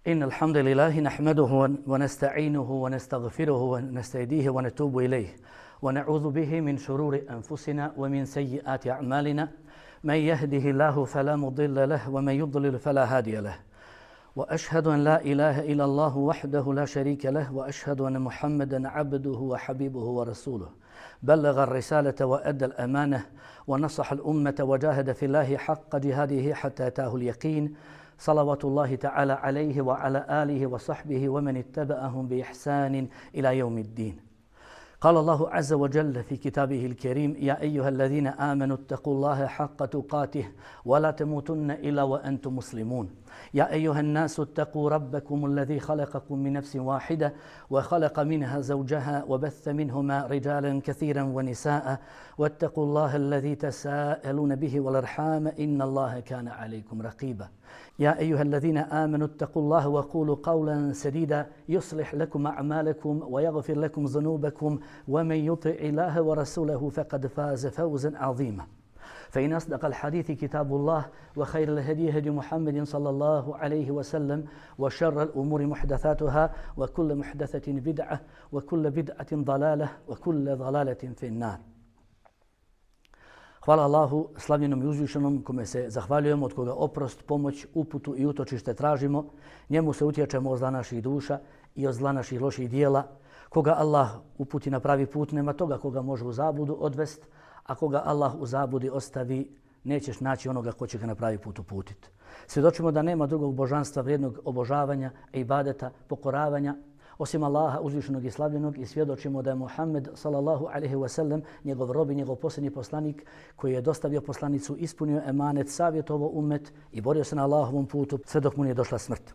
إن الحمد لله نحمده ونستعينه ونستغفره ونستهديه ونتوب إليه ونعوذ به من شرور أنفسنا ومن سيئات أعمالنا من يهده الله فلا مضل له ومن يضلل فلا هادي له وأشهد أن لا إله إلا الله وحده لا شريك له وأشهد أن محمدا عبده وحبيبه ورسوله بلغ الرسالة وأدى الأمانة ونصح الأمة وجاهد في الله حق جهاده حتى أتاه اليقين صلوات الله تعالى عليه وعلى آله وصحبه ومن اتبعهم بإحسان إلى يوم الدين. قال الله عز وجل في كتابه الكريم: يا أيها الذين آمنوا اتقوا الله حق تقاته ولا تموتن إلا وأنتم مسلمون. يا أيها الناس اتقوا ربكم الذي خلقكم من نفس واحدة وخلق منها زوجها وبث منهما رجالا كثيرا ونساء واتقوا الله الذي تساءلون به والأرحام إن الله كان عليكم رقيبا. يا أيها الذين آمنوا اتقوا الله وقولوا قولا سديدا يصلح لكم أعمالكم ويغفر لكم ذنوبكم ومن يطع الله ورسوله فقد فاز فوزا عظيما. فإن أصدق الحديث كتاب الله وخير الهدي هدي محمد صلى الله عليه وسلم وشر الأمور محدثاتها وكل محدثة بدعة وكل بدعة ضلالة وكل ضلالة في النار. Hvala Allahu, slavljenom i uzvišenom, kome se zahvaljujemo, od koga oprost, pomoć, uputu i utočište tražimo. Njemu se utječemo od zla naših duša i od zla naših loših dijela. Koga Allah uputi na pravi put, nema toga koga može u zabludu odvest, a koga Allah u zabludi ostavi, nećeš naći onoga ko će ga na pravi put uputiti. Svjedočimo da nema drugog božanstva vrijednog obožavanja, ibadeta, pokoravanja, osim Allaha uzvišenog i slavljenog, i svjedočimo da je Muhammed sallallahu alejhi ve sellem njegov rob i njegov posljednji poslanik koji je dostavio poslanicu, ispunio emanet, savjetovao ummet i borio se na Allahovom putu sve dok mu nije došla smrt.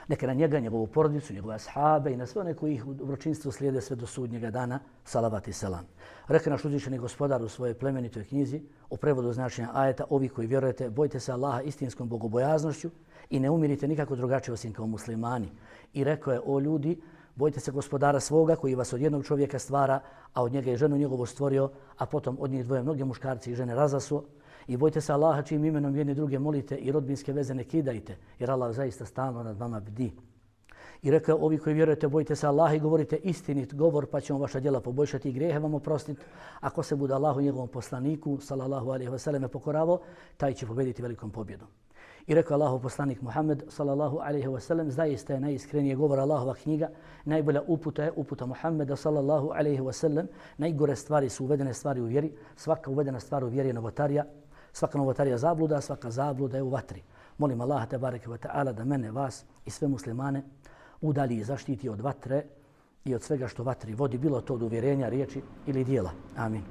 Neka na njega, njegovu porodicu, njegove ashabe i na sve one koji ih u dobročinstvu slijede sve do sudnjega dana, salavat i selam. Reka naš uzvišeni gospodar u svojoj plemenitoj knjizi u prevodu značenja ajeta: ovi koji vjerujete, bojte se Allaha istinskom bogobojaznošću i ne umirite nikako drugačije osim kao muslimani. I rekao je: o ljudi, bojte se gospodara svoga koji vas od jednog čovjeka stvara, a od njega je ženu njegovu stvorio, a potom od njih dvoje mnoge muškarci i žene razasuo. I bojte se Allaha čijim imenom jedni druge molite i rodbinske veze ne kidajte, jer Allah zaista stalno nad vama bdi. I rekao: ovi koji vjerujete, bojte se Allaha i govorite istinit govor, pa će on vaša djela poboljšati i grijehe vam oprostiti. Ako se bude Allahu i njegovom poslaniku sallallahu alejhi ve selleme pokoravao, taj će pobediti velikom pobjedom. I rekao Allahov poslanik Muhammed sallallahu alejhi ve sellem: zaista je najiskrenije govor Allahova knjiga, najbolja uputa je uputa Muhammeda sallallahu alejhi ve sellem, najgore stvari su uvedene stvari u vjeri, svaka uvedena stvar u vjeri je novotarija, svaka novotarija zabluda, svaka zabluda je u vatri. Molim Allaha tebareke ve taala da mene, vas i sve muslimane udalji i zaštiti od vatre i od svega što vatri vodi, bilo to od uvjerenja, riječi ili dijela. Amin.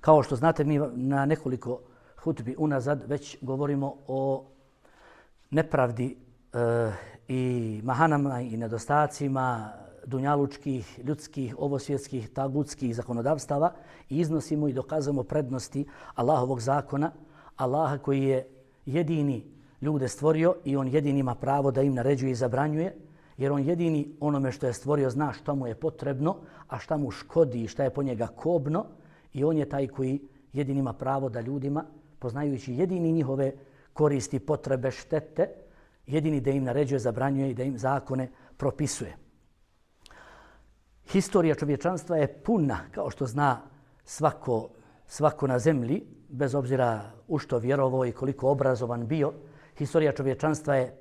Kao što znate, mi na nekoliko hutbi unazad već govorimo o nepravdi i mahanama i nedostacima dunjalučkih, ljudskih, ovosvjetskih, tagutskih zakonodavstava i iznosimo i dokazujemo prednosti Allahovog zakona, Allaha koji je jedini ljude stvorio i on jedini ima pravo da im naređuje i zabranjuje, jer on jedini onome što je stvorio zna šta mu je potrebno, a šta mu škodi i šta je po njega kobno, i on je taj koji jedini ima pravo da ljudima, poznajući jedini njihove koristi, potrebe, štete, jedini da im naređuje, zabranjuje i da im zakone propisuje. Historija čovječanstva je puna, kao što zna svako na zemlji, bez obzira u što vjerovao i koliko obrazovan bio. Historija čovječanstva je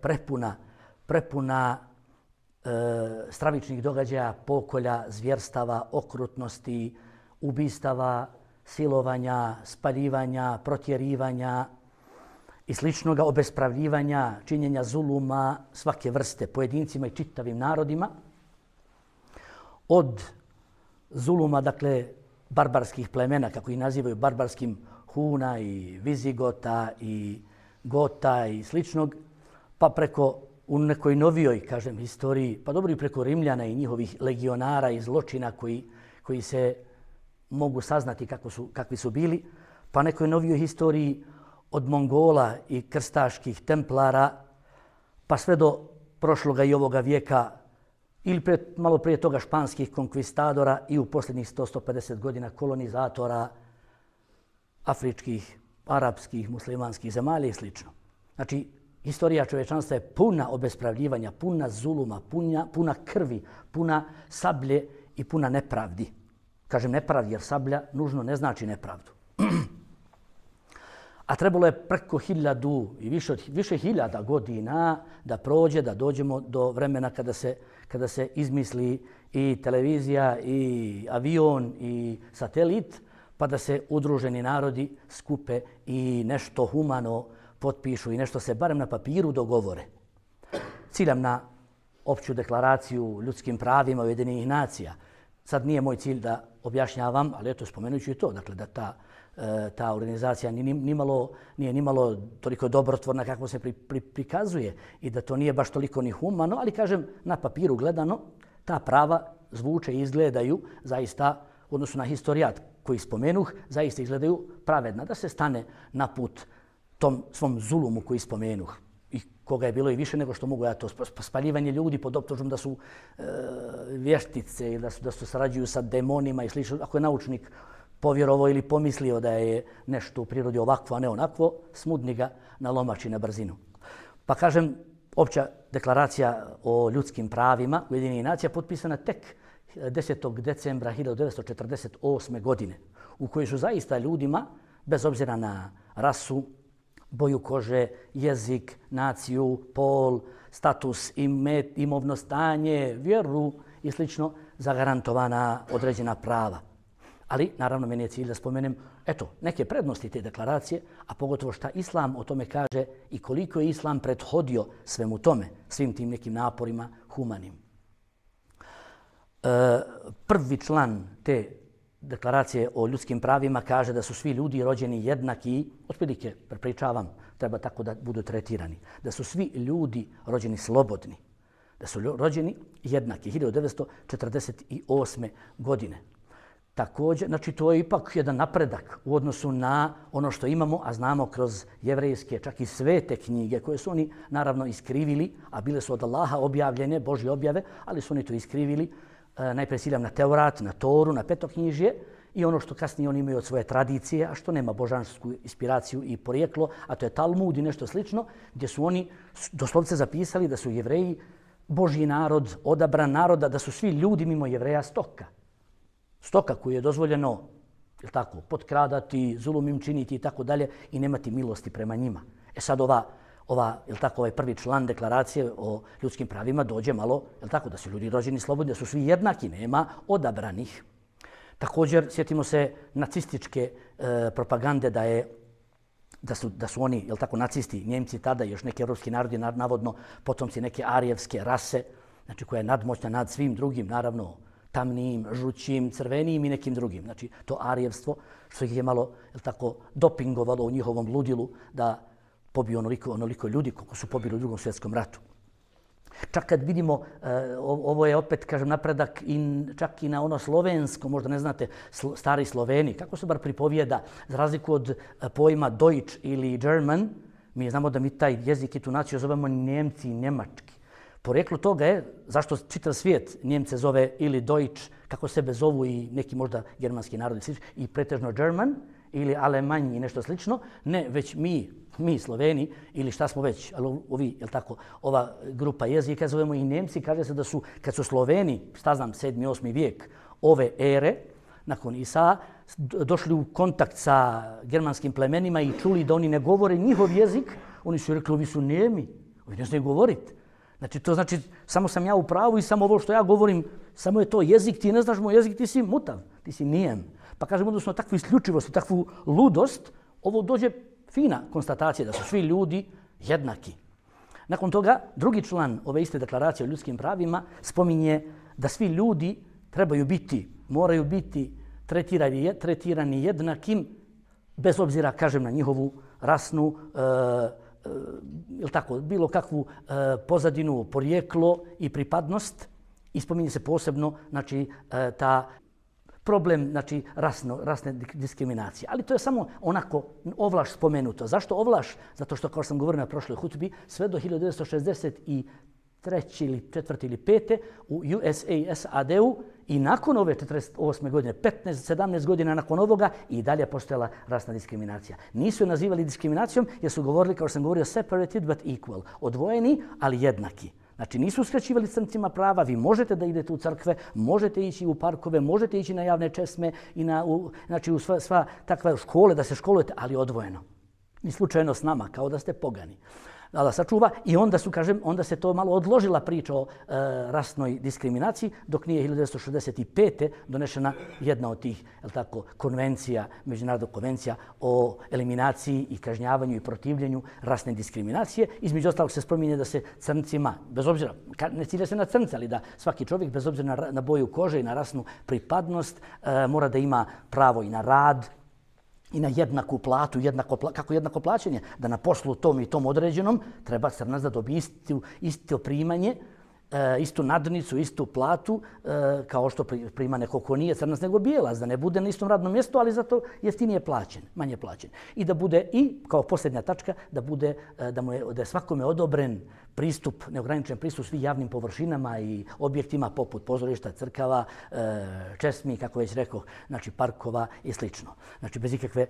prepuna stravičnih događaja, pokolja, zvjerstava, okrutnosti, ubistava, silovanja, spaljivanja, protjerivanja i sličnoga, obespravljivanja, činjenja zuluma svake vrste pojedincima i čitavim narodima. Od zuluma, dakle, barbarskih plemena, kako ih nazivaju, barbarskim Huna i Vizigota i Gota i sličnog, pa preko u nekoj novijoj, kažem, historiji, pa dobro i preko Rimljana i njihovih legionara i zločina koji se mogu saznati kakvi su bili, pa nekoj novijoj historiji od Mongola i krstaških templara, pa sve do prošloga i ovoga vijeka, ili malo prije toga španskih konkvistadora i u posljednjih 100-150 godina kolonizatora afričkih, arapskih, muslimanskih zemalja i sl. Znači, Historija čovječanstva je puna obespravljivanja, puna zuluma, puna krvi, puna sablje i puna nepravdi. Kažem nepravdi jer sablja nužno ne znači nepravdu. A trebalo je preko 1000 i više hiljada godina da prođe, da dođemo do vremena kada se izmisli i televizija, i avion, i satelit, pa da se udruženi narodi skupe i nešto humano potpišu i nešto se barem na papiru dogovore. Ciljam na opću deklaraciju ljudskim pravima Ujedinjenih nacija. Sad nije moj cilj da objašnjavam, ali eto spomenut ću i to, dakle da ta organizacija nije nimalo toliko dobrotvorna kako se prikazuje i da to nije baš toliko ni humano, ali kažem na papiru gledano ta prava zvuče i izgledaju zaista u odnosu na historijat koji spomenuh, zaista izgledaju pravedna, da se stane na put tom svom zulumu koji spomenuh i koga je bilo i više nego što mogu ja to spaljivanje ljudi pod optužbom da su vještice ili da su sarađuju sa demonima i slično. Ako je naučnik povjerovao ili pomislio da je nešto u prirodi ovakvo, a ne onakvo, smudni ga na lomači na brzinu. Pa kažem, opća deklaracija o ljudskim pravima Ujedinjenih nacija potpisana tek 10. decembra 1948. godine, u kojoj su zaista ljudima, bez obzira na rasu, boju kože, jezik, naciju, pol, status, imovno stanje, vjeru i slično, zagarantovana određena prava. Ali, naravno, meni je cilj da spomenem neke prednosti te deklaracije, a pogotovo šta Islam o tome kaže i koliko je Islam prethodio svemu tome, svim tim nekim naporima humanim. Prvi član te deklaracije o ljudskim pravima kaže da su svi ljudi rođeni jednaki, otprilike prepričavam, treba tako da budu tretirani, da su svi ljudi rođeni slobodni, da su rođeni jednaki 1948. godine. Također, znači to je ipak jedan napredak u odnosu na ono što imamo, a znamo kroz jevrejske, čak i svete knjige koje su oni naravno iskrivili, a bile su od Allaha objavljene, Božje objave, ali su oni to iskrivili. Najprije ciljam na Teurat, na Toru, na Petoknjižje i ono što kasnije oni imaju od svoje tradicije, a što nema božansku inspiraciju i porijeklo, a to je Talmud i nešto slično, gdje su oni doslovce zapisali da su Jevreji Božji narod, odabran naroda, da su svi ljudi mimo Jevreja stoka. Stoka koju je dozvoljeno potkradati, zulum im činiti i tako dalje i nemati milosti prema njima. Sad ovaj prvi član deklaracije o ljudskim pravima dođe malo, da su ljudi rođeni slobodni, da su svi jednaki, nema odabranih. Također, sjetimo se nacističke propagande da su oni, nacisti, Njemci tada i još neki evropski narodi, navodno potomci neke arijevske rase, znači koja je nadmoćna nad svim drugim, naravno tamnijim, žućim, crvenijim i nekim drugim. Znači to arijevstvo što ih je malo dopingovalo u njihovom ludilu da pobiju onoliko ljudi koliko su pobili u Drugom svjetskom ratu. Čak kad vidimo, ovo je opet, kažem, napredak čak i na ono slovensko, možda ne znate, stari Sloveni, kako se bar pripovijeda, za razliku od pojma Deutsch ili German, mi znamo da mi taj jezik i tu naciju zovemo Njemci i Njemački. Porijeklo toga je zašto čitav svijet Njemce zove ili Deutsch, kako sebe zovu i neki možda germanski narodi i pretežno German ili Alemanj i nešto slično. Ne, već mi Sloveni ili šta smo već, ali ova grupa jezika zovemo i Njemci. Kaže se da su, kad su Sloveni, 7. 8. vijek ove ere, nakon Isaa, došli u kontakt sa germanskim plemenima i čuli da oni ne govore njihov jezik, oni su rekli, ovi su Njemi, ovi ne znaju govoriti. Znači, to znači, samo sam ja u pravu i samo ovo što ja govorim, samo je to jezik, ti ne znaš moj jezik, ti si mutav, ti si nijem. Pa kažem, odnosno takvu isključivost, takvu ludost, ovo dođe fina konstatacija da su svi ljudi jednaki. Nakon toga, drugi član ove iste deklaracije o ljudskim pravima spominje da svi ljudi moraju biti tretirani jednakim, bez obzira, kažem, na njihovu rasnu, bilo kakvu pozadinu, porijeklo i pripadnost. I spominje se posebno ta problem rasne diskriminacije. Ali to je samo onako ovlaš spomenuto. Zašto ovlaš? Zato što, kao što sam govorio na prošloj hutbi, sve do 1963. ili 4. ili 5. u SAD-u i nakon ove 48. godine, 15-17 godina nakon ovoga i dalje postojala rasna diskriminacija. Nisu je nazivali diskriminacijom jer su govorili, kao što sam govorio, separated but equal. Odvojeni, ali jednaki. Znači nisu uskraćivali crncima prava, vi možete da idete u crkve, možete ići u parkove, možete ići na javne česme i znači u sva takve škole da se školujete, ali odvojeno. Ni slučajno s nama, kao da ste pogani. Allah sačuva i onda se to malo odložila priča o rasnoj diskriminaciji dok nije 1965. donešena jedna od tih konvencija, međunarodna konvencija o eliminaciji i kažnjavanju i protivljenju rasne diskriminacije. Između ostalog se spominje da se crncima, bez obzira, ne cilja se na crnce, ali da svaki čovjek bez obzira na boju kože i na rasnu pripadnost mora da ima pravo i na rad, i na jednaku platu, kako jednako plaćanje, da na poslu tom i tom određenom treba crnac da dobije isto primanje, istu nadnicu, istu platu, kao što prima neko ko nije crnac nego bijelac, da ne bude na istom radnom mjestu, ali zato jeftinije plaćen, manje plaćen. I da bude, i kao posljednja tačka, da je svakome odobren pristup, neograničen pristup svim javnim površinama i objektima poput pozorišta, crkava, česmi, kako već rekao, znači parkova i slično. Znači bez ikakve,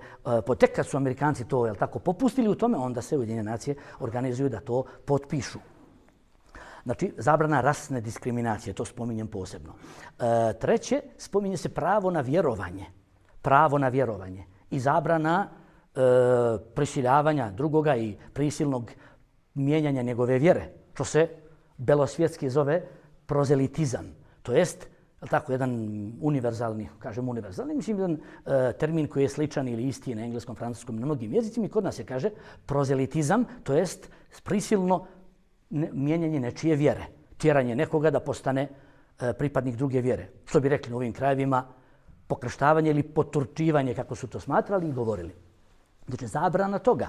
tek kad su Amerikanci to popustili u tome, onda se Ujedinjene nacije organizuju da to potpišu. Znači, zabrana rasne diskriminacije, to spominjem posebno. Treće, spominje se pravo na vjerovanje. Pravo na vjerovanje i zabrana prisiljavanja drugoga i prisilnog mijenjanja njegove vjere, što se belosvjetski zove prozelitizam. To jest, jedan univerzalni, mislim jedan termin koji je sličan ili isti na engleskom, francuskom, na mnogim jezicima i kod nas se kaže prozelitizam, to jest prisilno mijenjanje nečije vjere, tjeranje nekoga da postane pripadnik druge vjere. Što bi rekli u ovim krajevima, pokrštavanje ili poturčivanje, kako su to smatrali i govorili. Znači, zabrana toga.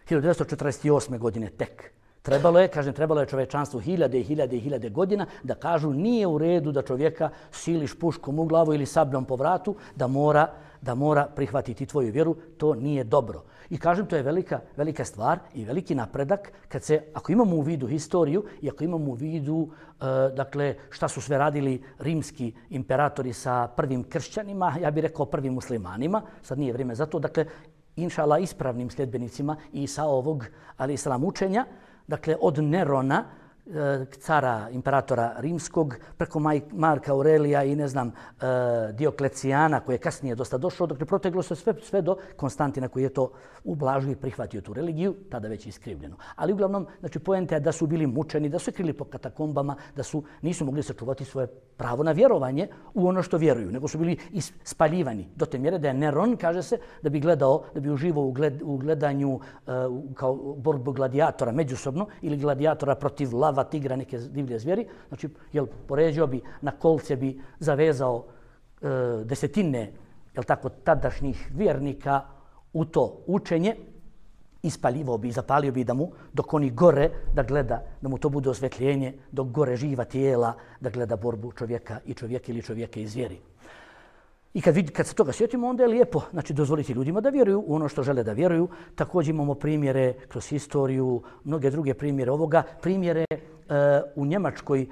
1948. godine tek. Trebalo je čovečanstvu hiljade godina da kažu nije u redu da čovjeka siliš puškom u glavu ili sabljom po vratu, da mora prihvatiti tvoju vjeru. To nije dobro. I kažem, to je velika stvar i veliki napredak ako imamo u vidu historiju i ako imamo u vidu šta su sve radili rimski imperatori sa prvim kršćanima, ja bih rekao prvim muslimanima, sad nije vrijeme za to, inšala ispravnim sljedbenicima Isa ovog, ali islam učenja, od Nerona, cara, imperatora rimskog, preko Marka Aurelija i Dioklecijana, koji je kasnije dosta došao, proteglo se sve do Konstantina koji je to ublažio i prihvatio tu religiju, tada već iskrivljeno. Ali uglavnom, poenta je da su bili mučeni, da su krili po katakombama, da nisu mogli sačuvati svoje pravo na vjerovanje u ono što vjeruju, nego su bili ispaljivani do te mjere da je Neron, kaže se, da bi uživao u gledanju kao borbu gladijatora međusobno ili gladijatora protiv lava, tigra, neke divlje zvijeri. Znači, poređao bi, na kolce bi zavezao desetine tadašnjih vjernika u to učenje, ispaljivao bi i zapalio bi dok oni gore da gleda, da mu to bude osvetljenje, dok gore živa tijela da gleda borbu čovjeka i čovjeka ili čovjeka i zvijeri. I kad se toga sjetimo, onda je lijepo dozvoliti ljudima da vjeruju u ono što žele da vjeruju. Također imamo primjere kroz historiju, mnoge druge primjere ovoga. Primjere u Njemačkoj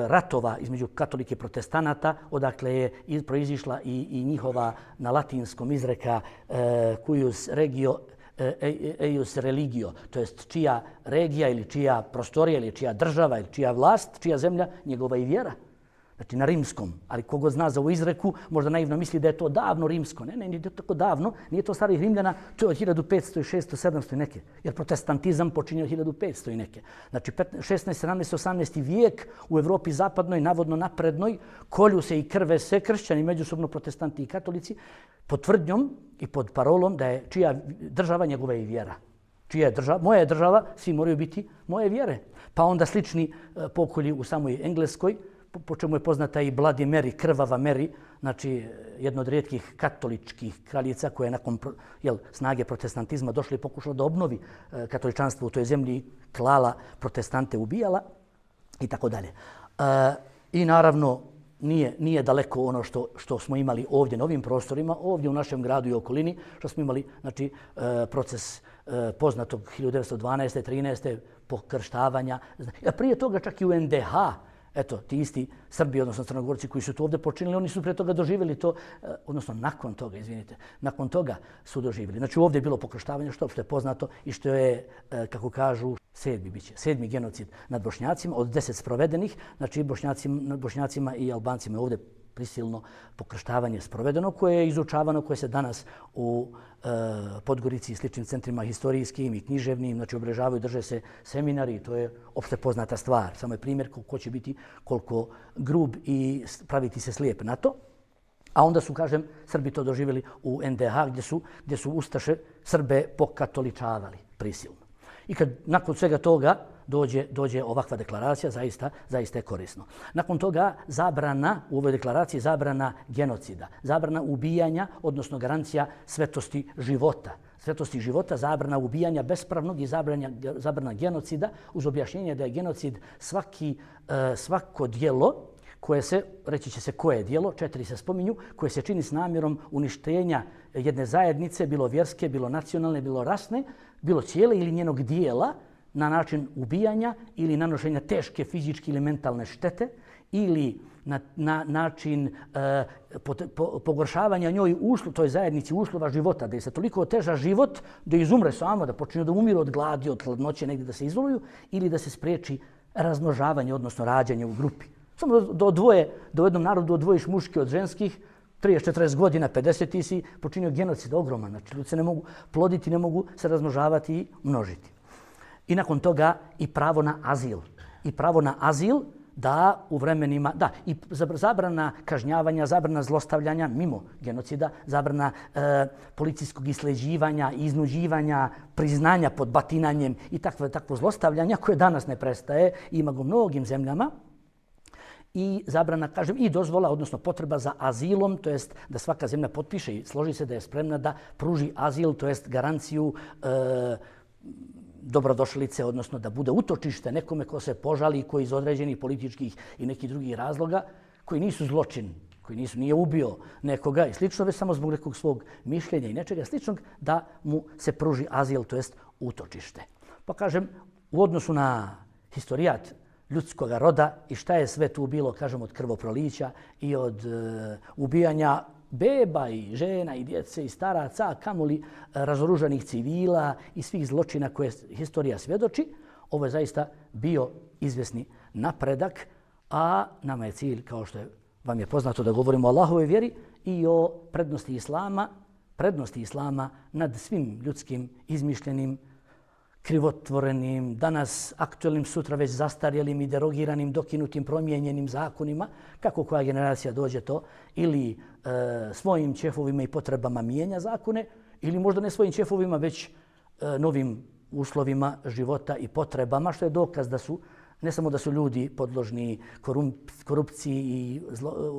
ratova između katolike i protestanata, odakle je proizišla i njihova na latinskom izreka cuius regio eius religio, to jest čija regija ili čija prostorija ili čija država ili čija vlast, čija zemlja, njegova i vjera. Znači na rimskom, ali kogo zna za ovu izreku, možda naivno misli da je to davno rimsko. Ne, nije to tako davno, nije to starih Rimljana, to je od 1500, 600, 700 i neke. Jer protestantizam počinje od 1500 i neke. Znači 16, 17, 18 vijek u Evropi zapadnoj, navodno naprednoj, kolju se i krve se kršćani, međusobno protestanti i katolici, pod tvrdnjom i pod parolom da je čija država njegova i vjera. Čija je država? Moja je država, svi moraju biti moje vjere. Pa onda slični pokolji u samoj Engleskoj, po čemu je poznata i Bloody Mary, krvava Mary, znači jedna od rijetkih katoličkih kraljica koja je nakon snage protestantizma došla i pokušala da obnovi katoličanstvo u toj zemlji, klala protestante, ubijala i tako dalje. I naravno nije daleko ono što smo imali ovdje na ovim prostorima, ovdje u našem gradu i okolini, što smo imali proces poznatog 1912. 13. pokrštavanja. A prije toga čak i u NDH Eto, ti isti Srbi, odnosno Crnogorci koji su to ovdje počinili, oni su pre toga doživjeli to, odnosno nakon toga su doživjeli. Znači ovdje je bilo pokrštavanje, što je poznato i što je, kako kažu, sedmi genocid nad Bošnjacima od 10 sprovedenih, znači Bošnjacima i Albancima je ovdje prisilno pokrštavanje sprovedeno, koje je izučavano, koje se danas u Podgorici i sličnim centrima historijskim i književnim, znači obeležavaju, drže se seminari, to je opšte poznata stvar. Samo je primjer ko će biti koliko grub i praviti se slijep na to. A onda su, kažem, Srbi to doživjeli u NDH gdje su Ustaše Srbe pokatoličavali prisilno. I kad nakon svega toga dođe ovakva deklaracija, zaista je korisno. Nakon toga u ovoj deklaraciji zabrana genocida, zabrana ubijanja, odnosno garancija svetosti života, zabrana ubijanja bespravnog i zabrana genocida uz objašnjenje da je genocid svako djelo koje se, reći će se koje je djelo, 4 se spominju, koje se čini s namjerom uništenja jedne zajednice, bilo vjerske, bilo nacionalne, bilo rasne, bilo cijele ili njenog dijela, na način ubijanja ili nanošenja teške fizičke ili mentalne štete ili na način pogoršavanja njoj toj zajednici uslova života, da je se toliko oteža život da izumre samo, da počinju da umiru od gladi, od hladnoće, negdje da se izoluju ili da se spriječi razmnožavanje, odnosno rađanje u grupi. Samo da u jednom narodu odvojiš muške od ženskih, 30-40 godina, 50 ti si počinio genocid ogroman. Znači, ljudi se ne mogu ploditi, ne mogu se razmnožavati i množiti. I nakon toga i pravo na azil. I pravo na azil da u vremenima, i zabrana kažnjavanja, zabrana zlostavljanja mimo genocida, zabrana policijskog isleđivanja, iznuđivanja, priznanja pod batinanjem i takvo zlostavljanja koje danas ne prestaje, ima ga u mnogim zemljama. I zabrana, kažem, i dozvola, odnosno potreba za azilom, to jest da svaka zemlja potpiše i složi se da je spremna da pruži azil, to jest garanciju dobrodošlice, odnosno da bude utočište nekome ko se požali, koji iz određenih političkih i nekih drugih razloga, koji nisu zločin, koji nije ubio nekoga i slično, već samo zbog nekog svog mišljenja i nečega sličnog, da mu se pruži azil, to jest utočište. Pa kažem, u odnosu na historijat ljudskog roda i šta je sve tu bilo, kažem, od krvoprolića i od ubijanja beba i žena i djece i staraca, kamoli razoružanih civila i svih zločina koje historija svjedoči. Ovo je zaista bio izvjesni napredak, a nama je cilj, kao što vam je poznato, da govorimo o Allahovoj vjeri i o prednosti Islama nad svim ljudskim izmišljenim, krivotvorenim, danas aktualnim, sutra već zastarjelim i derogiranim, dokinutim, promijenjenim zakonima, kako koja generacija dođe to, ili svojim ćefovima i potrebama mijenja zakone, ili možda ne svojim ćefovima, već novim uslovima života i potrebama, što je dokaz da su, ne samo da su ljudi podložni korupciji i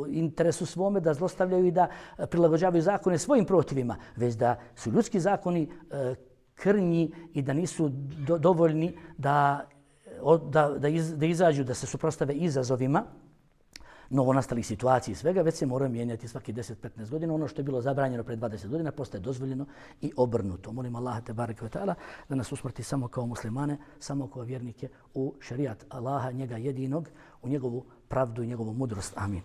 interesu svome, da zlostavljaju i da prilagođavaju zakone svojim protivima, već da su ljudski zakoni krnji i da nisu dovoljni da izađu, da se suprotstave izazovima novonastalih situacija i svega, već se moraju mijenjati svaki 10-15 godina. Ono što je bilo zabranjeno pred 20 godina postaje dozvoljeno i obrnuto. Molim Allaha tebareke ve taala da nas usmrti samo kao muslimane, samo kao vjernike u šerijat Allaha, njega jedinog, u njegovu pravdu i njegovu mudrost. Amin.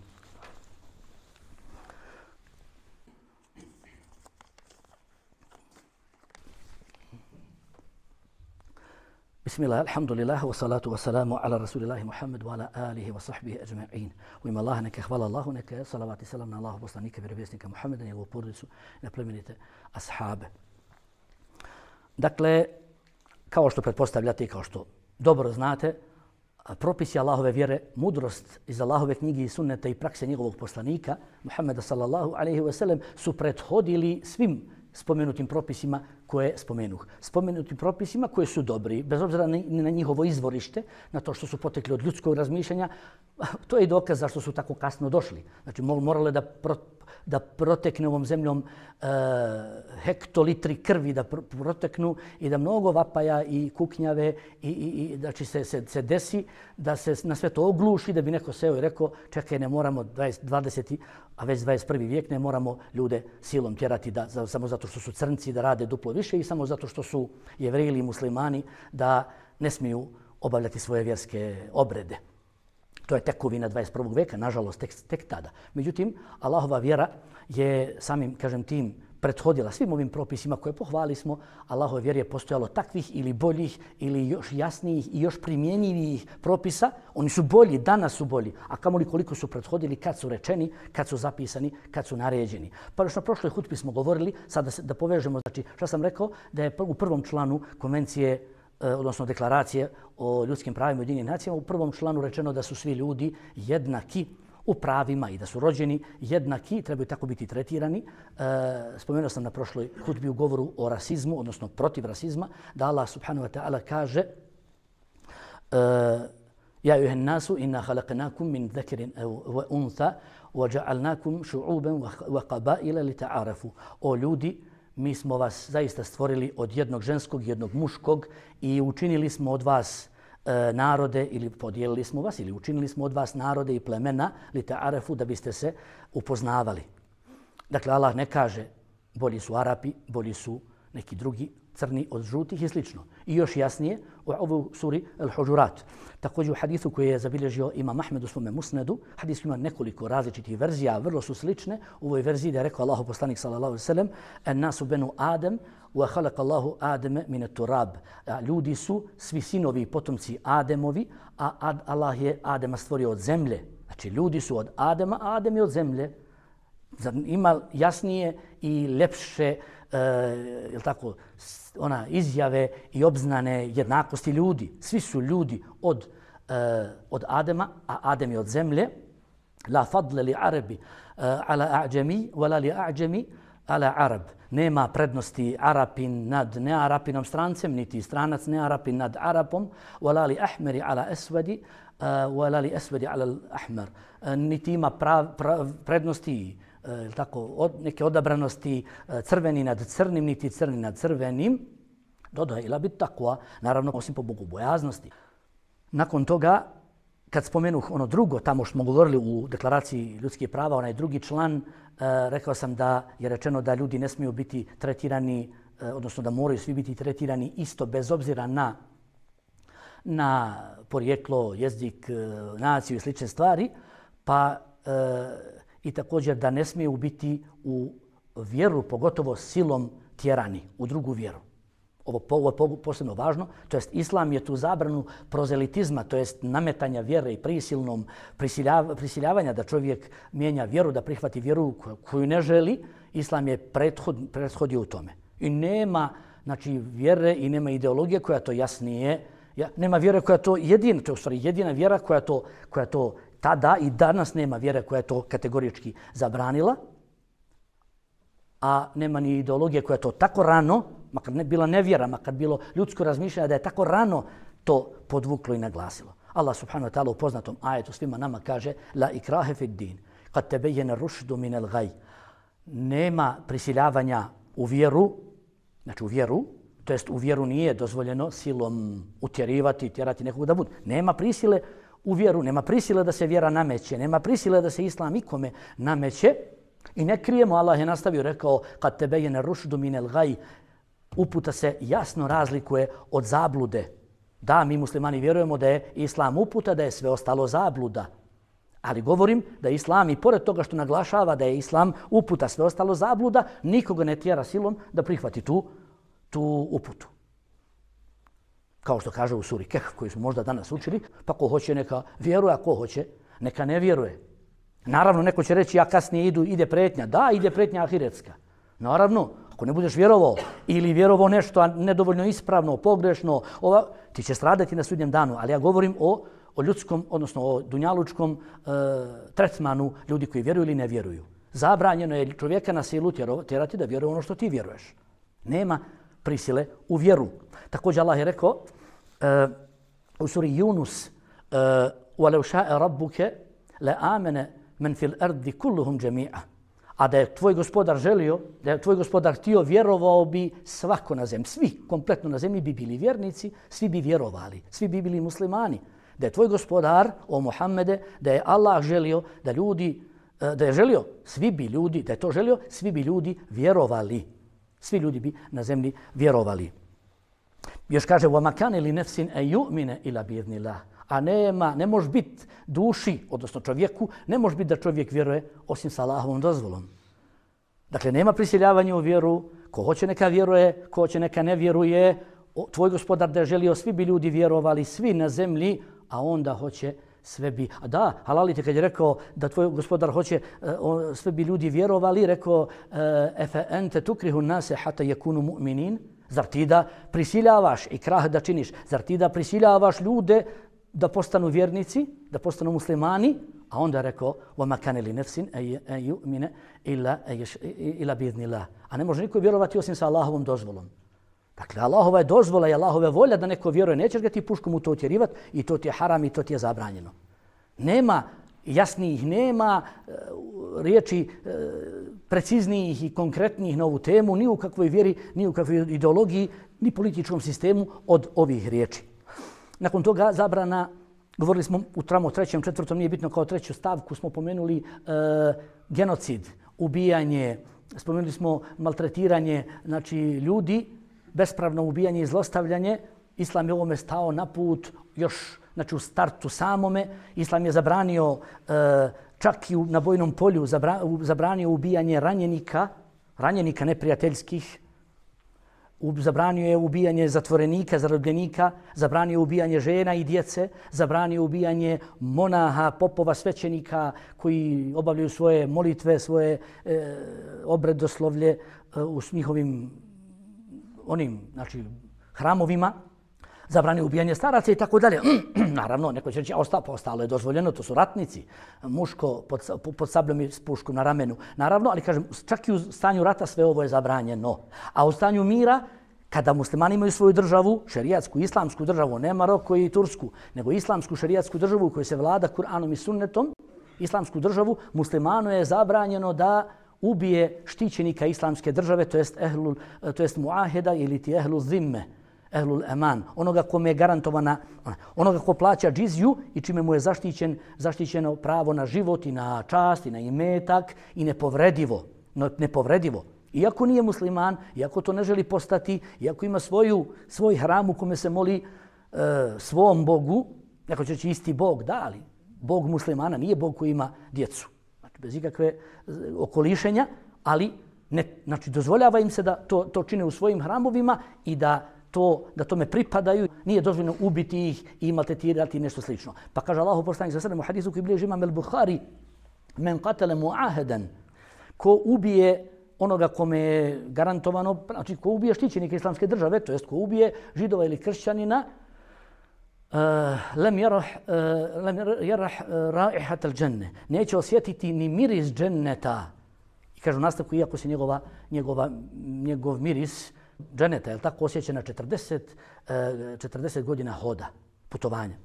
Bismillah, alhamdulillah, wa salatu wa salamu ala rasulillahi Muhammed wa ala alihi wa sahbihi ajma'in. U ime Allaha neka hvala Allahu, neka salavat i salam na Allahu poslanika, vjerovjesnika Muhammeda, njegovu porodicu i na plemenite ashabe. Dakle, kao što pretpostavljate i kao što dobro znate, propisi Allahove vjere, mudrost iz Allahove knjige i sunneta i prakse njegovog poslanika, Muhammeda sallallahu alaihi wa sallam, su prethodili svim spomenutim propisima koje spomenuh. Spomenutim propisima koje su dobri, bez obzira na njihovo izvorište, na to što su potekli od ljudskog razmišljanja, to je i dokaz zašto su tako kasno došli. Znači, morale da protekne ovom zemljom hektolitri krvi, da proteknu i da mnogo vapaja i kuknjave i znači se desi da se na sve to ogluši, da bi neko seo i rekao čekaj, ne moramo 20. a već 21. vijek, ne moramo ljude silom tjerati samo zato što su crnci da rade duplo više i samo zato što su Jevreji ili muslimani da ne smiju obavljati svoje vjerske obrede. To je tekovina 21. veka, nažalost, tek tada. Međutim, Allahova vjera je samim, kažem, tim prethodila svim ovim propisima koje pohvali smo. Allahove vjeri je postojalo takvih ili boljih ili još jasnijih i još primjenjivijih propisa. Oni su bolji, danas su bolji. A kamoli koliko su prethodili, kad su rečeni, kad su zapisani, kad su naređeni. Pa još na prošloj hutbi smo govorili, sad da povežemo, znači šta sam rekao, da je u prvom članu konvencije, odnosno deklaracije o ljudskim pravima i Ujedinjenim nacijama, u prvom članu rečeno da su svi ljudi jednaki u pravima i da su rođeni jednaki, trebaju tako biti tretirani. Spomenuo sam na prošloj hutbi u govoru o rasizmu, odnosno protiv rasizma, da Allah subhanahu wa ta'ala kaže Ja ejuhen nasu inna halaqnakum min dhakarin wa untha wa ja'alnakum shu'uban wa qaba'ila li ta'arafu. O ljudi, mi smo vas zaista stvorili od jednog ženskog i jednog muškog i učinili smo od vas narode ili podijelili smo vas ili učinili smo od vas narode i plemena li ta'arafu da biste se upoznavali. Dakle, Allah ne kaže bolji su Arapi, bolji su neki drugi, crni od žutih i slično. I još jasnije u ovoj suri Al-Huđurat. Također u hadisu koji je zabilježio Imam Ahmed u svome musnedu, hadis ima nekoliko različitih verzija, vrlo su slične. U ovoj verziji da je rekao Allahu poslanik sallallahu alejhi ve sellem: "En-nasu benu Adem wa khalaqa Allahu Adama min at-turab." Ljudi su svi sinovi i potomci Ademovi, a Allah je Adema stvorio od zemlje. Znači ljudi su od Adema, a Adem je od zemlje. Ima jasnije i ljepše tako, izjave i obznane jednakosti ljudi. Svi su ljudi od Adema, a Adem je od zemlje. La fadle li Arabi ala a'đemi, wala li a'đemi ala Arab. Nema prednosti Arapin nad nearapinom strancem, niti stranac nearapin nad Arapom. Wala li ahmeri ala esvedi, wala li esvedi ala ahmer. Niti ima prednosti tako, neke odabranosti crveni nad crnim, niti crni nad crvenim. Dodaje ila bit takva, naravno osim po bogobojaznosti. Nakon toga, kad spomenuh ono drugo, tamo što smo govorili u deklaraciji ljudskih prava, onaj drugi član, rekao sam da je rečeno da ljudi ne smiju biti tretirani, odnosno da moraju svi biti tretirani isto bez obzira na porijeklo, jezik, naciju i slične stvari, pa i također da ne smiju biti u vjeru, pogotovo silom tjerani u drugu vjeru. Ovo je posebno važno, to jest Islam je tu zabranu prozelitizma, to jest nametanja vjere i prisilnom prisiljavanja da čovjek mijenja vjeru, da prihvati vjeru koju ne želi. Islam je prethodio u tome. I nema vjere i nema ideologije koja to jasnije, nema vjere koja to jedina, to je u stvari jedina vjera koja to tada i danas nema vjere koja je to kategorički zabranila, a nema ni ideologije koja to tako rano, makar ne bila nevjera, makar bilo ljudsko razmišljanje da je tako rano to podvuklo i naglasilo. Allah subhanahu wa ta'ala u poznatom ajetu svima nama kaže La ikrahe fid din, kad tebejene rušdu minel gaj. Nema prisiljavanja u vjeru, znači u vjeru, to jest u vjeru nije dozvoljeno silom utjerivati, tjerati nekog da bude. Nema prisile u vjeru, nema prisile da se vjera nameće, nema prisile da se Islam ikome nameće. I ne krijemo, Allah je nastavio, rekao kad tebejene rušdu minel gaj, uputa se jasno razlikuje od zablude. Da, mi muslimani vjerujemo da je Islam uputa, da je sve ostalo zabluda. Ali govorim da je Islam i pored toga što naglašava da je Islam uputa, sve ostalo zabluda, nikoga ne tjera silom da prihvati tu uputu. Kao što kaže u suri Kehf koju smo možda danas učili, pa ko hoće neka vjeruje, a ko hoće neka ne vjeruje. Naravno, neko će reći ja kasnije ide pretnja. Da, ide pretnja ahiretska. Naravno, ako ne budeš vjerovao ili vjerovao nešto nedovoljno ispravno, pogrešno, ti će stradati na sudnjem danu. Ali ja govorim o ljudskom, odnosno o dunjalučkom tretmanu ljudi koji vjeruju ili ne vjeruju. Zabranjeno je čovjeka na silu tjerati da vjeruje ono što ti vjeruješ. Nema prisile u vjeru. Također Allah je rekao u suri Yunus وَلَوْ شَاءَ رَبُّكَ لَآمَنَ مَنْ فِي الْأَرْضِ كُلُّهُمْ جَمِيعًا. A da je tvoj gospodar želio, da je tvoj gospodar htio, vjerovao bi svako na zemlji. Svi kompletno na zemlji bi bili vjernici, svi bi vjerovali, svi bi bili muslimani. Da je tvoj gospodar, o Muhammede, da je Allah želio da ljudi, da je želio, svi bi ljudi, da je to želio, svi bi ljudi vjerovali. Svi ljudi bi na zemlji vjerovali. Još kaže, وَمَا كَانَ لِنَفْسٍ أَن يُؤْمِنَ إِلَّا بِإِذْنِ اللَّهِ. A ne može biti duši, odnosno čovjeku, ne može biti da čovjek vjeruje osim sa Allahovom dozvolom. Dakle, nema prisiljavanja u vjeru. Ko hoće neka vjeruje, ko hoće neka ne vjeruje. Tvoj gospodar da je želio, svi bi ljudi vjerovali, svi na zemlji, a onda hoće sve bi. A da, halalite kad je rekao da tvoj gospodar hoće, sve bi ljudi vjerovali, rekao efe ente tukrihu nase hata yakunu mu'minin. Zar ti da prisiljavaš i krah da činiš? Zar ti da prisiljavaš ljude da postanu vjernici, da postanu muslimani? A onda je rekao وَمَا كَانَ لِنَفْسٍ أَن يُؤْمِنَ إِلَّا بِإِذْنِ اللَّهِ. A ne može niko vjerovati osim sa Allahovom dozvolom. Dakle, Allahova je dozvola i Allahova je volja da neko vjeruje. Nećeš ga ti puškom u to utjerivati i to ti je haram i to ti je zabranjeno. Nema jasnijih, nema riječi preciznijih i konkretnijih na ovu temu, ni u kakvoj vjeri, ni u kakvoj ideologiji, ni političkom sistemu od ovih riječi. Nakon toga zabrana, govorili smo u trećem, četvrtom, nije bitno, kao treću stavku smo pomenuli genocid, ubijanje, spomenuli smo maltretiranje, znači ljudi, bespravno ubijanje i zlostavljanje. Islam je ovome stao na put još, znači u startu samome. Islam je zabranio čak i na bojnom polju, zabranio ubijanje ranjenika neprijateljskih, zabranio je ubijanje zatvorenika, zarobljenika, zabranio je ubijanje žena i djece, zabranio ubijanje monaha, popova, svećenika koji obavljaju svoje molitve, svoje obredoslovlje u njihovim znači, hramovima, zabranio ubijanje staraca i tako dalje. Naravno, neko će reći, ostalo je dozvoljeno, to su ratnici, muško pod sabljom i s puškom na ramenu. Naravno, ali kažem, čak i u stanju rata sve ovo je zabranjeno. A u stanju mira, kada muslimani imaju svoju državu, šerijatsku, islamsku državu, ne Maroko i Tursku, nego islamsku šerijatsku državu u kojoj se vlada Kur'anom i sunnetom, islamsku državu, muslimanu je zabranjeno da ubije štićenika islamske države, to jest muaheda ili ti ehlu zimme, ehlul eman, onoga kome je garantovana, onoga ko plaća džiziju i čime mu je zaštićeno pravo na život i na čast i na imetak i nepovredivo. Iako nije musliman, iako to ne želi postati, iako ima svoj hram u kome se moli svom Bogu, neko će reći isti Bog, da, ali Bog muslimana nije Bog koji ima djecu. Znači, bez ikakve okolišenja, ali znači, dozvoljava im se da to čine u svojim hramovima i da tome pripadaju, nije dozvoljeno ubiti ih i maltretirati nešto slično. Pa kaže Allahu poslanik sallallahu alejhi ve sellem u hadisu koji bilježi imam al-Buhari, men qatala mu'ahadan, ko ubije onoga kome je garantovano, znači ko ubije štićenika islamske države, to jest ko ubije židova ili kršćanina, lem yarah raihat al-janne, neće osjetiti ni miris dženneta. I kaže u nastavku, iako se njegov miris dženeta, je li tako, osjeća na 40 godina hoda, putovanja,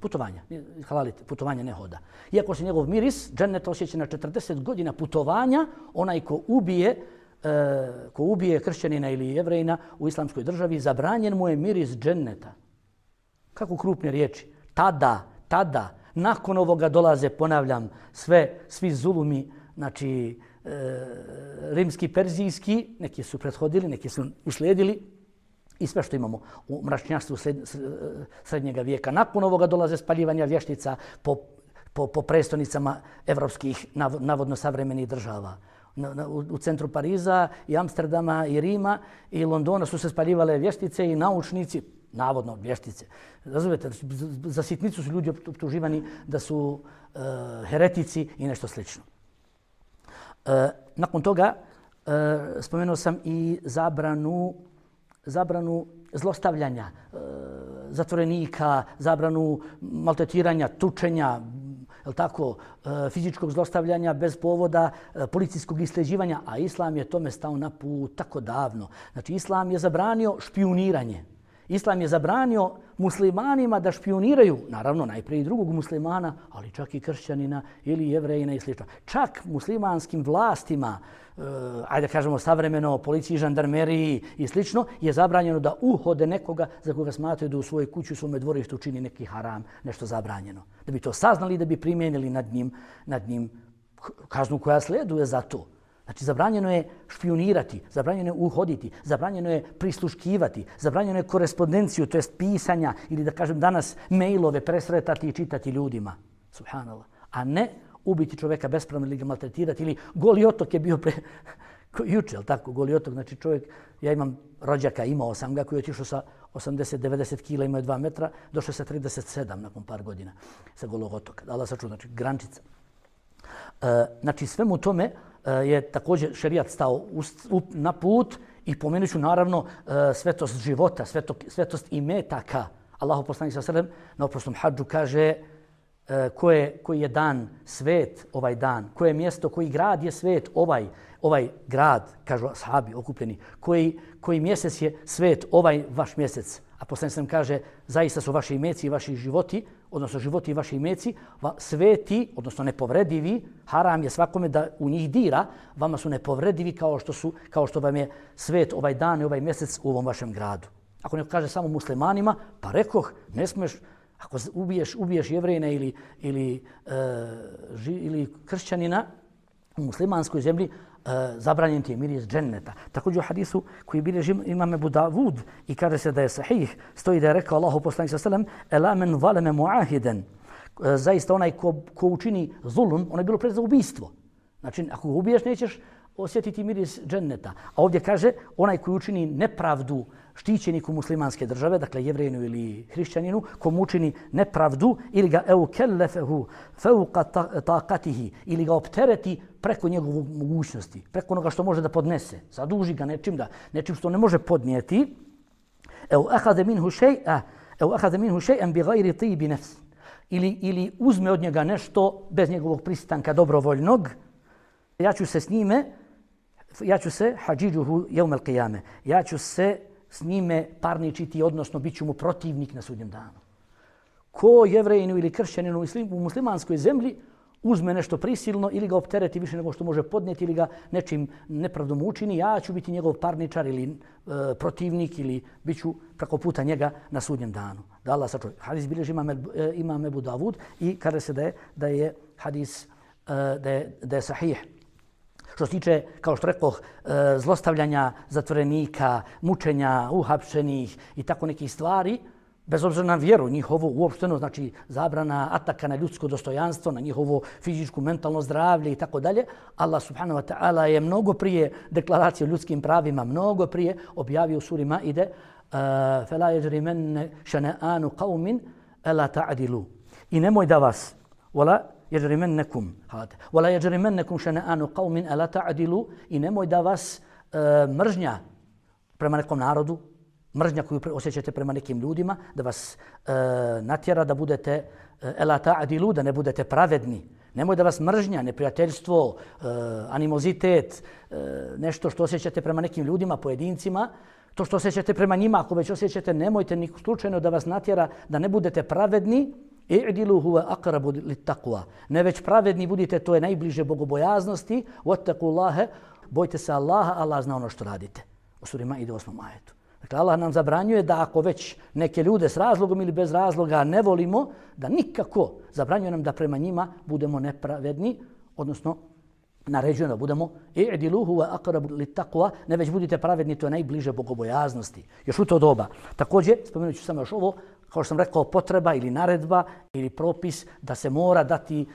halalite, putovanja ne hoda. Iako se njegov miris dženeta osjeća na 40 godina putovanja, onaj ko ubije kršćanina ili jevrejina u islamskoj državi, zabranjen mu je miris dženeta. Kako krupne riječi. Tada, nakon ovoga dolaze, ponavljam, svi zulumi, znači, rimski, perzijski, neki su prethodili, neki su uslijedili i sve što imamo u mračnjaštvu srednjega vijeka. Nakon ovoga dolaze spaljivanja vještica po prestonicama evropskih, navodno savremenih država. U centru Pariza i Amsterdama i Rima i Londona su se spaljivale vještice i naučnici, navodno vještice. Razumijete, za sitnicu su ljudi optuživani da su heretici i nešto slično. Nakon toga spomenuo sam i zabranu zlostavljanja zatvorenika, zabranu maltretiranja, tučenja, fizičkog zlostavljanja bez povoda, policijskog isljeđivanja, a Islam je tome stao na put tako davno. Znači, Islam je zabranio špijuniranje. Islam je zabranio muslimanima da špijuniraju, naravno najprije i drugog muslimana, ali čak i kršćanina ili jevrejina i sl. Čak muslimanskim vlastima, ajde kažemo savremeno, policiji, žandarmeriji i sl. Je zabranjeno da uhode nekoga za koga smatraju da u svojoj kući, u svome dvorištu čini neki haram, nešto zabranjeno. Da bi to saznali, da bi primijenili nad njim kaznu koja sleduje za to. Znači, zabranjeno je špionirati, zabranjeno je uhoditi, zabranjeno je prisluškivati, zabranjeno je korespondenciju, to jest pisanja ili da kažem danas mailove presretati i čitati ljudima. Subhanallah. A ne ubiti čovjeka bespravno ili ga maltretirati ili Goli otok je bio juče, tako, Goli otok, znači čovjek, ja imam rođaka, imao sam ga koji je otišao sa 80-90 kila, imao je 2 metra, došao sa 37 nakon par godina sa Golog otoka. Allah sačuva, znači grančica. Znači svemu tome je također šerijat stao na put i pomenut ću naravno svetost života, svetost imetaka. Allahu poslanik sallallahu alejhi ve sellem na oprosnom hadžu kaže koji je dan svet ovaj dan, koje mjesto, koji grad je svet ovaj grad, kažu ashabi okupljeni, koji mjesec je svet ovaj vaš mjesec. A poslanik sallallahu kaže zaista su vaši imeci i vaši životi, odnosno životi i vaši imeci, sveti, odnosno nepovredivi, haram je svakome da u njih dira, vama su nepovredivi kao što vam je svet ovaj dan i ovaj mjesec u ovom vašem gradu. Ako neko kaže samo muslimanima, pa rekoh, ne smiješ, ako ubiješ Jevrejina ili kršćanina u muslimanskoj zemlji, zabranjen ti je miris dženneta. Također u hadisu koji bilježi imam Ebu Davud i kaže se da je sahih, stoji da je rekao Allahu poslanik sallallahu alejhi ve sellem: "Ela men zalama muahiden." Zaista onaj ko učini zulum, ono je bilo pred za ubistvo. Znači, ako ga ubiješ, nećeš osjetiti miris dženneta. A ovdje kaže onaj koji učini nepravdu štićeniku muslimanske države, dakle Jevrejinu ili hrišćaninu, komu učini nepravdu ili ga eukellefehu fauqa taqatihi ili ga optereti preko njegove mogućnosti, preko onoga što može da podnese, zaduži ga nečim što ne može podnijeti, akhadha minhu shay'an bighayri tib nafs ili uzme od njega nešto bez njegovog pristanka dobrovoljnog, ja ću se hadžiđuhu yawm al-qiyame, ja ću se s njime parničiti, odnosno bit ću mu protivnik na sudnjem danu. Ko Jevrejinu ili kršćaninu u muslimanskoj zemlji uzme nešto prisilno ili ga optereti više nego što može podnijeti ili ga nečim nepravdom učini, ja ću biti njegov parničar ili protivnik ili bit ću preko puta njega na sudnjem danu. Da Allah sačuva. Hadis bilježi imam Ebu Davud i kaže se da je hadis da je sahih. Što se tiče, kao što rekoh, zlostavljanja zatvorenika, mučenja, uhapšenih i tako nekih stvari, bez obzira na vjeru njihovo uopšteno, znači zabrana ataka na ljudsko dostojanstvo, na njihovo fizičko, mentalno zdravlje i tako dalje, Allah subhanahu wa ta'ala je mnogo prije deklaracije o ljudskim pravima, mnogo prije objavio u suri Maide فَلَا يَجْرِمَنَّ شَنَآنُ قَوْمٍ أَلَا تَعْدِلُوا I nemoj da vas, وَلَا يَجْرِمَنَّكُمْ شَنَآنُ قَوْمٍ أَلَا تَعْدِلُوا I nemoj da vas mržnja prema nekom narodu, mržnja koju osjećate prema nekim ljudima, da vas natjera da budete ela ta'dilu, da ne budete pravedni. Nemoj da vas mržnja, neprijateljstvo, animozitet, nešto što osjećate prema nekim ljudima, pojedincima, to što osjećate prema njima, ako već osjećate, nemojte ni slučajno da vas natjera da ne budete pravedni. I'dilu huwa aqrabu lit-taqwa. Ne već pravedni budite, to je najbliže bogobojaznosti. Wattaqullaha, bojte se Allaha, Allah zna ono što radite. U suri Maide 8. ajetu. Dakle, Allah nam zabranjuje da ako već neke ljude s razlogom ili bez razloga ne volimo, da nikako zabranjuje nam da prema njima budemo nepravedni, odnosno naređuje da budemo i'dilu huwa aqrabu lit-taqwa, ne već budite pravedni, to je najbliže bogobojaznosti. Još u to doba. Također, spomenut ću samo još ovo, kao što sam rekao, potreba ili naredba ili propis da se mora dati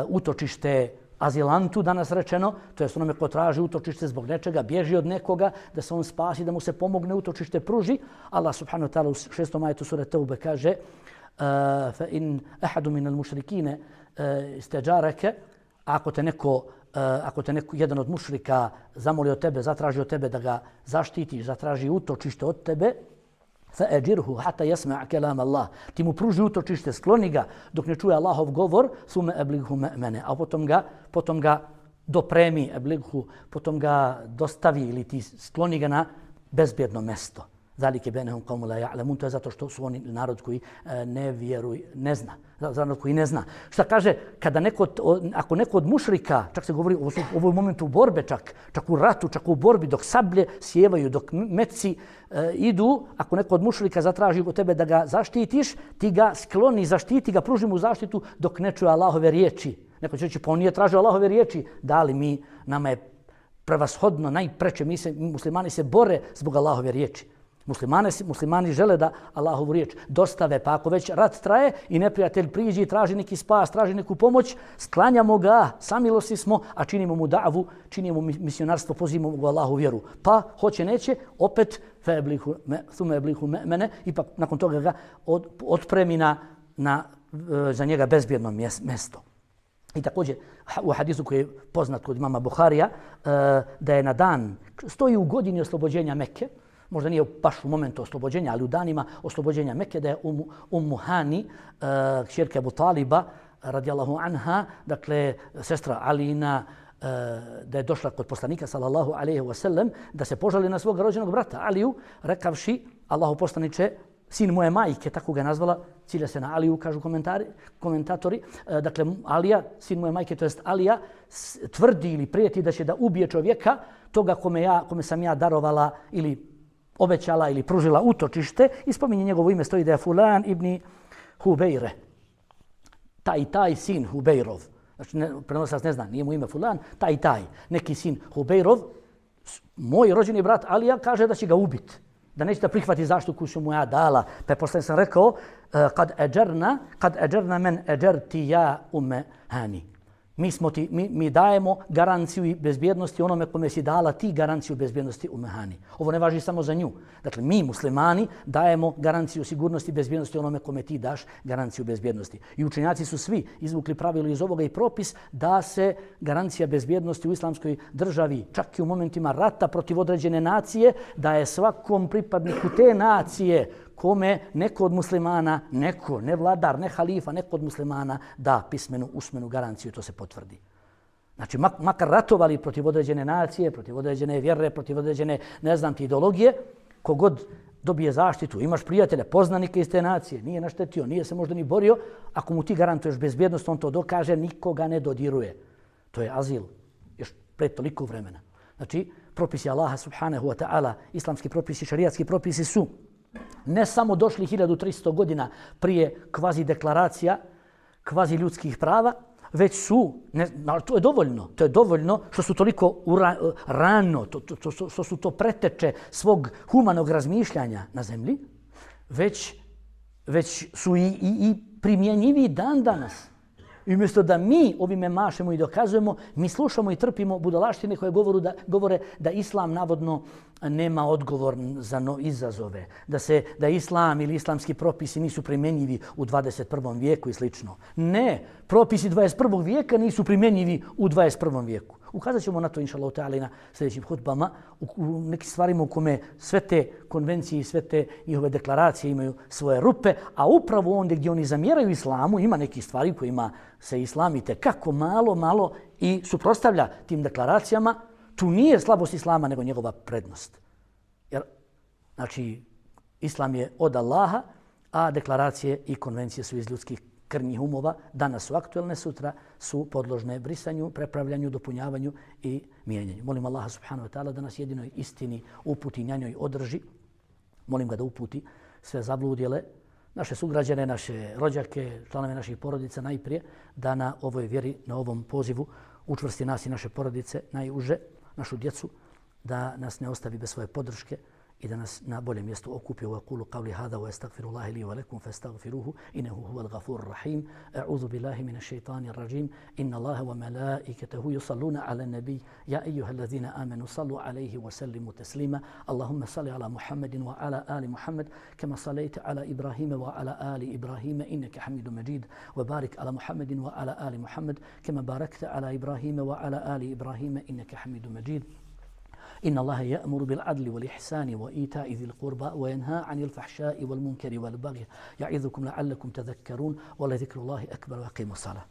utočište azilantu, danas rečeno, to je onome ko traži utočište zbog nečega, bježi od nekoga, da se on spasi, da mu se pomogne, utočište pruži. Allah subhanahu wa ta'ala u 6. ajetu sure Teube kaže فَإِنْ أَحَدُ مِنَ الْمُشْرِكِينَ اسْتَجَارَكَ Ako te neko, jedan od mušrika zamoli od tebe, zatraži od tebe da ga zaštitiš, zatraži utočište od tebe, فَأَجِرْهُ حَتَّى يَسْمَعَ كَلَامَ اللَّهِ Ti mu pruži utočište, skloni ga dok ne čuje Allahov govor, ثُمَّ أَبْلِغْهُ مَأْمَنَ A potom ga dopremi, potom ga dostavi ili ti skloni ga na bezbjedno mesto. ذَلِكَ بَيْنَهُمْ قَوْمُ لَا يَعْلَمُونَ To je zato što su oni narod koji ne vjeruje, ne zna. Narod koji ne zna. Šta kaže, ako neko od mušrika, čak se govori u ovom momentu borbe, čak u ratu, čak u borbi, dok sablje sjevaju, dok metci idu, ako neko od mušrika zatraži od tebe da ga zaštitiš, ti ga skloni, zaštiti ga, pruži mu zaštitu dok ne čuje Allahove riječi. Neko će reći, pa on nije tražio Allahove riječi. Da li nama je prevashodno, najpreče, muslimani se bore zbog Allahove riječi. Muslimani žele da Allahovu riječ dostave, pa ako već rat traje i neprijatelj priđe i traži neki spas, traži neku pomoć, sklanjamo ga, samilosti smo, a činimo mu da'vu, činimo misionarstvo, pozivamo ga u Allahu vjeru. Pa, hoće neće, opet thume eblihu mene, ipak nakon toga ga otpremi za njega bezbjedno mjesto. I također u hadisu koji je poznat kod imama Buharija, da je na dan, stoji u godini oslobođenja Mekke, možda nije baš u momentu oslobođenja, ali u danima oslobođenja Mekke, da je Ummu Hani, kćerka Abu Taliba, radijallahu anha, dakle, sestra Alina, da je došla kod poslanika, sallallahu alaihi wa sallam, da se požali na svog rođenog brata Aliju, rekavši, Allahu poslaniče, sin moje majke, tako ga je nazvala, cilja se na Aliju, kažu komentatori. Dakle, Alija, sin moje majke, to jest Alija, tvrdi ili prijeti da će da ubije čovjeka, toga kome sam ja darovala ili obećala ili pružila utočište, i spominje njegovo ime, stoji da je Fulan ibn Hubejre. Taj sin Hubejrov. Znači, prenosilac ne zna, nije mu ime Fulan, taj, neki sin Hubejrov, moj rođeni brat Alija kaže da će ga ubiti, da neće da prihvati zaštitu koju su mu ja dala. Pa je posle sam rekao, kad eđerna men eđerti ja umme hani. Mi dajemo garanciju i bezbjednosti onome kome si dala ti garanciju bezbjednosti u Mehani. Ovo ne važi samo za nju. Dakle, mi muslimani dajemo garanciju sigurnosti i bezbjednosti onome kome ti daš garanciju bezbjednosti. I učenjaci su svi izvukli pravilo iz ovoga i propis da se garancija bezbjednosti u islamskoj državi, čak i u momentima rata protiv određene nacije, da je svakom pripadniku te nacije kome neko od muslimana, ne vladar, ne halifa, neko od muslimana da pismenu, usmenu garanciju, to se potvrdi. Znači, makar ratovali protiv određene nacije, protiv određene vjere, protiv određene, ne znam ti, ideologije, kogod dobije zaštitu, imaš prijatelja, poznanike iz te nacije, nije naštetio, nije se možda ni borio, ako mu ti garantuješ bezbjednost, on to dokaže, nikoga ne dodiruje. To je azil, još pred toliko vremena. Znači, propisi Allaha subhanahu wa ta'ala, islamski propisi, šarijatski propisi su ne samo došli 1300 godina prije kvazi deklaracija, kvazi ljudskih prava, već su, to je dovoljno što su toliko rano, što su to preteče svog humanog razmišljanja na zemlji, već su i primjenjivi dan danas. I umjesto da mi ovime mašemo i dokazujemo, mi slušamo i trpimo budalaštine koje govore da islam navodno nema odgovor za izazove, da islam ili islamski propisi nisu primjenjivi u 21. vijeku i slično. Ne, propisi 21. vijeka nisu primjenjivi u 21. vijeku. Ukazat ćemo na to, inša Allah ta'ala, i na sljedećim hutbama, u nekim stvarima u kome sve te konvencije i sve te njihove deklaracije imaju svoje rupe, a upravo onda gdje oni zamjeraju islamu, ima nekih stvari kojima se islam itekako malo i suprotstavlja tim deklaracijama, tu nije slabost islama, nego njegova prednost. Jer, znači, islam je od Allaha, a deklaracije i konvencije su iz ljudskih krnjih umova, danas su aktuelne, sutra su podložne brisanju, prepravljanju, dopunjavanju i mijenjanju. Molim Allaha subhanahu wa ta'ala da nas jedinoj istini uputi, na njoj održi. Molim ga da uputi sve zabludjele, naše sugrađane, naše rođake, članove naših porodica najprije, da na ovoj vjeri, na ovom pozivu učvrsti nas i naše porodice najuže, našu djecu, da nas ne ostavi bez svoje podrške i da nas na boljem mjestu okupi. Wa qulu qawli hadha wa astaghfirullaha li wa lakum fastaghfiruhu innahu huwal ghafurur rahim. A'udhu billahi minash shaitanir rajim. Inna Allaha wa malaikatahu yusalluna 'alan nabiy ya ayyuhalladhina amanu sallu 'alayhi wa sallimu taslima. Allahumma salli 'ala Muhammadin wa 'ala ali Muhammad kama sallaita 'ala Ibrahima wa 'ala ali Ibrahima innaka Hamidum Majid. Wa barik 'ala Muhammadin wa 'ala ali Muhammad kama barakta 'ala Ibrahima wa 'ala ali Ibrahima innaka Hamidum Majid. إن الله يأمر بالعدل والإحسان وإيتاء ذي القربى وينهى عن الفحشاء والمنكر والبغي يعظكم لعلكم تذكرون ولذكر الله أكبر وأقيموا الصلاة